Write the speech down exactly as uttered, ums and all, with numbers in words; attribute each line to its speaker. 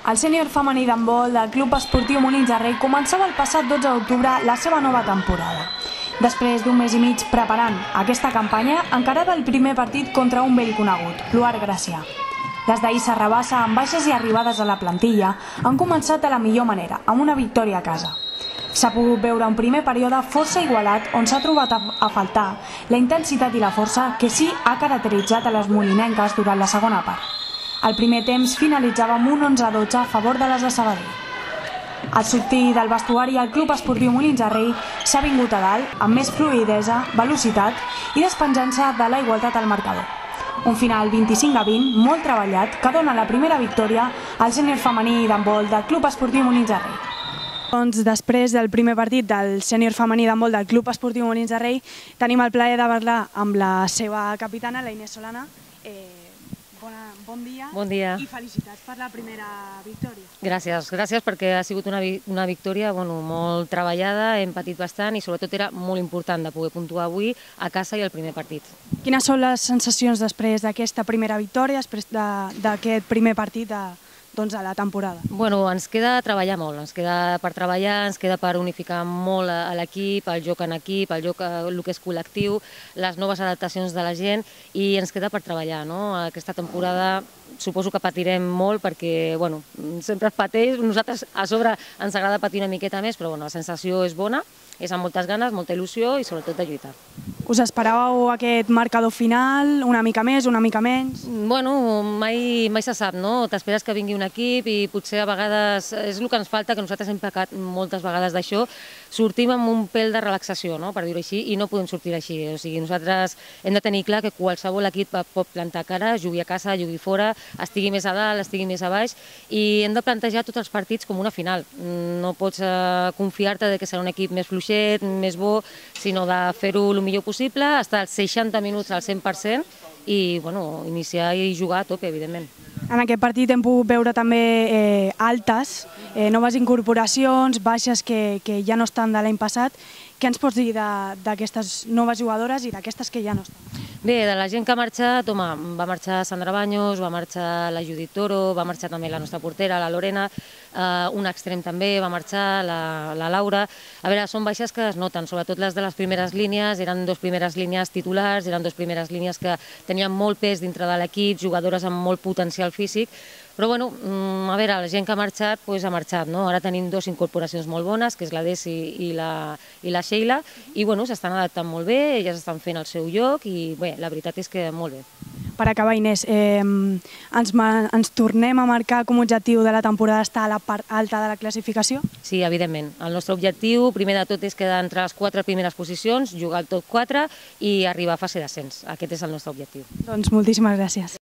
Speaker 1: El sènior femení d'handbol del Club Esportiu Molins de Rei començava el passat dotze d'octubre la seva nova temporada. Després d'un mes i mig preparant aquesta campanya, encarava el primer partit contra un vell conegut, l'Uar Gracià. Les d'ahir Serrabassa, amb baixes i arribades a la plantilla, han començat de la millor manera, amb una victòria a casa. S'ha pogut veure un primer període força igualat on s'ha trobat a faltar la intensitat i la força que sí ha caracteritzat a les molinenques durant la segona part. El primer temps finalitzava amb un onze a dotze a favor de les de Sabadell. Al sortir del vestuari, el Club Esportiu Molins de Rei s'ha vingut a dalt amb més fluïdesa, velocitat i despenjant-se de la igualtat al marcador. Un final vint-i-cinc a vint, molt treballat, que dona la primera victòria al sènior femení d'handbol del Club Esportiu Molins de Rei. Doncs després del primer partit del sènior femení d'handbol del Club Esportiu Molins de Rei, tenim el plaer de parlar amb la seva capitana, la Inés Solana. Eh, bona, bon dia.
Speaker 2: Bon dia.
Speaker 1: I felicitats per la primera victòria.
Speaker 2: Gràcies, gràcies perquè ha sigut una, una victòria bueno, molt treballada, hem patit bastant i sobretot era molt important de poder puntuar avui a casa i el primer partit.
Speaker 1: Quines són les sensacions després d'aquesta primera victòria, després d'aquest primer partit de, doncs, a la temporada?
Speaker 2: Bueno, ens queda treballar molt, ens queda per treballar, ens queda per unificar molt a l'equip, el joc en equip, el joc el que és col·lectiu, les noves adaptacions de la gent i ens queda per treballar, no? Aquesta temporada suposo que patirem molt perquè, bueno, sempre es pateix, nosaltres a sobre ens agrada patir una miqueta més, però bueno, la sensació és bona, és amb moltes ganes, molta il·lusió i sobretot de lluitar.
Speaker 1: Us esperàveu aquest marcador final, una mica més, una mica menys?
Speaker 2: Bueno, mai, mai se sap, no? T'esperes que vingui un equip i potser a vegades és el que ens falta, que nosaltres hem pecat moltes vegades d'això, sortim amb un pèl de relaxació, no? Per dir-ho així, i no podem sortir així. O sigui, nosaltres hem de tenir clar que qualsevol equip pot plantar cara, jugui a casa, jugui fora, estigui més a dalt, estigui més a baix, i hem de plantejar tots els partits com una final. No pots eh, confiar-te que serà un equip més fluixet, més bo, sinó de fer-ho el millor possible, estar als seixanta minuts al cent per cent i bueno, iniciar i jugar a tope, evidentment.
Speaker 1: En aquest partit hem pogut veure també eh, altes, eh, noves incorporacions, baixes que, que ja no estan de l'any passat. Què ens pots dir d'aquestes noves jugadores i d'aquestes que ja no estan?
Speaker 2: Bé, de la gent que ha marxat, home, va marxar Sandra Baños, va marxar la Judit Toro, va marxar també la nostra portera, la Lorena, eh, un extrem també va marxar, la, la Laura. A veure, són baixes que es noten, sobretot les de les primeres línies, eren dues primeres línies titulars, eren dues primeres línies que tenien molt pes dintre de l'equip, jugadores amb molt potencial físic, però bueno, a veure, la gent que ha marxat, doncs ha marxat, no? Ara tenim dues incorporacions molt bones, que és la Desi i la, i la Sheila, i bueno, s'estan adaptant molt bé, elles estan fent el seu lloc i bé, la veritat és que molt bé.
Speaker 1: Per acabar, Inés, eh, ens, ens tornem a marcar com a objectiu de la temporada estar a la part alta de la classificació?
Speaker 2: Sí, evidentment. El nostre objectiu, primer de tot, és quedar entre les quatre primeres posicions, jugar al top quatre i arribar a fase d'ascens. Aquest és el nostre objectiu.
Speaker 1: Doncs moltíssimes gràcies.